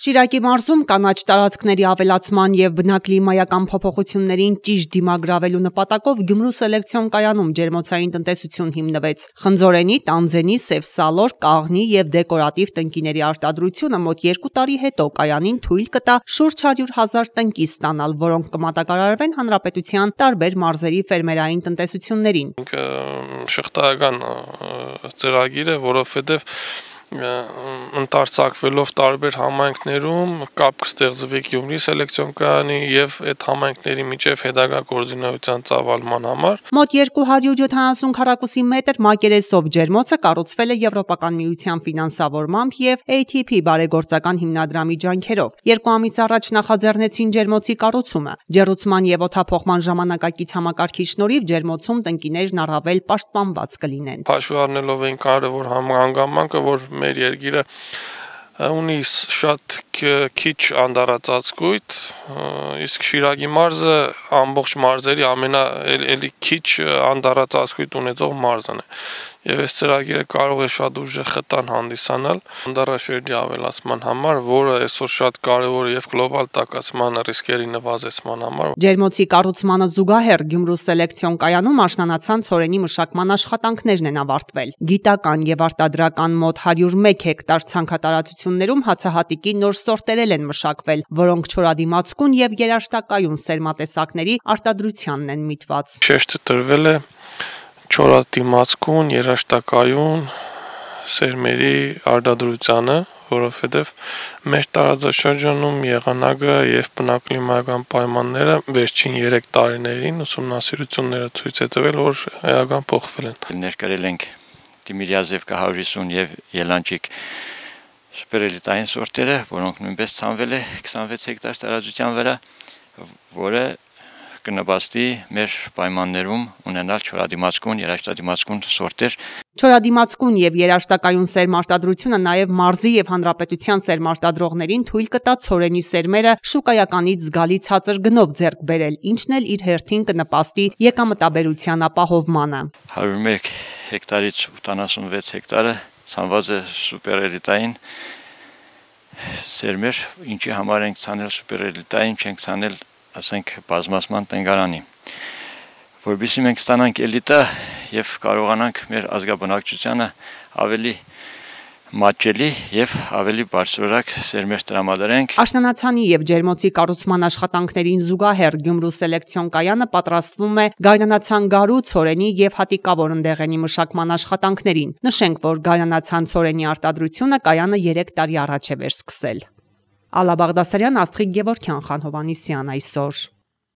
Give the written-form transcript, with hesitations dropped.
Շիրակի մարզում կանաչ տարածքների ավելացման և բնակլիմայական փոփոխություններին ճիշտ դիմագրավելու նպատակով Գյումրու սելեկցիոն կայանում ջերմոցային տնտեսություն հիմնվեց։ Խնձորենի, Տանձենի, Սևսալոր, Կաղնի և դեկորատիվ տնկիների արտադրությունը մոտ 2 տարի հետո կայանին թույլ կտա շուրջ 100,000 տնկի ստանալ, որոնք կմատակարարվեն հանրապետության տարբեր մարզերի ֆերմերային տնտեսություններին։ Շղթայական ծրագիր է, որովհետև ընթերցակվելով տարբեր համայնքներում կապ կստեղծվի Գյումրի սելեկցիոն կայանի եւ այդ համայնքների միջև հետագա գործունեության ծավալման համար։ Մոտ 270 քառակուսի մետր մակերեսով ջերմոցը կառուցվել է Եվրոպական միության ֆինանսավորմամբ եւ ATP բարեգործական հիմնադրամի ջանքերով։ 2 ամիս առաջ նախաձեռնեցին ջերմոցի կառուցումը։ Ջեռուցման եւ օդափոխման ժամանակակից համակարգի շնորհիվ ջերմոցում տնկիներն առավել պաշտպանված կլինեն։ Հաշվի առնելով այն կարևոր հանգամանքը, որ մեր երկիրը ունի շատ քիչ անդառածածկույթ, իսկ Շիրակի մարզը ամբողջ մարզերի ամենաելի քիչ անդառածածկույթ ունեցող մարզն է։ Եվ այս ծրագիրը կարող է շատ ուժեղ խթան հանդիսանալ անդառաշերտի ավելացման համար, որը այսօր շատ կարևոր է եւ գլոբալ տաքացման ռիսկերի նվազեցման համար։ Ջերմոցի կառուցմանը զուգահեռ Գյումրու սելեկցիոն կայանում աշնանացան ցորենի մշակման աշխատանքներն են ավարտվել։ Գիտական եւ արտադրական մոտ 101 հեկտար ցանքատարածություններում հացահատիկի նոր սորտեր են մշակվել, որոնք չորադիմացկուն եւ երաշտակայուն սերմատեսակների արտադրությանն են միտված։ Շեշտը տրվել է չորադիմացկուն, երաշտակայուն սերմերի արտադրությանը, որովհետև մեր տարածաշրջանում եղանակը եւ բնակլիմայական պայմանները վերջին 3 տարիներին ուսումնասիրությունները ցույց է տվել, որ էական փոխվել են։ Ներկայել ենք Տիմիրյազևկա 150 եւ Ելանչիկ սուպերելիտային սորտերը, որոնք նույնպես ցանվել է 26 հեկտար տարածության վրա, որը կնպաստի մեր պայմաններում ունենալ չորադիմացկուն, երաշտադիմացկուն սորտեր։ Չորադիմացկուն եւ երաշտակայուն սերմարտադրությունը նաեւ մարզի եւ հանրապետության սերմարտադրողներին թույլ կտա ցորենի սերմերը շուկայականից զգալի ցածր գնով ձեռք բերել, ինչն էլ իր հերթին կնպաստի եկամտաբերության ապահովմանը։ 101 հեկտարից 86 հեկտարը ցանված է սուպերելիտային սերմեր, ինչի համար ենք ցանել սուպերելիտային, չենք ցանել ասենք բազմացման տնգարանի, որովհետեւ մենք ստանանք էլիտա եւ կարողանանք մեր ազգաբնակչությանը ավելի մատչելի եւ ավելի բարձրորակ սերմեր տրամադրենք։ Աշնանացանի եւ ջերմոցի կառուցման աշխատանքներին զուգահեռ Գյումրու սելեկցիոն կայանը պատրաստվում է գայնանացան գարու, ցորենի եւ հատիկավոր ընդեղենի մշակման աշխատանքներին։ Նշենք, որ գայնանացան ցորենի արտադրությունը կայանը 3 տարի առաջ է վերսկսել։ Ալա Բաղդասարյան, Աստղիկ Գևորգյան, Խան Հովհաննիսյան այսօր։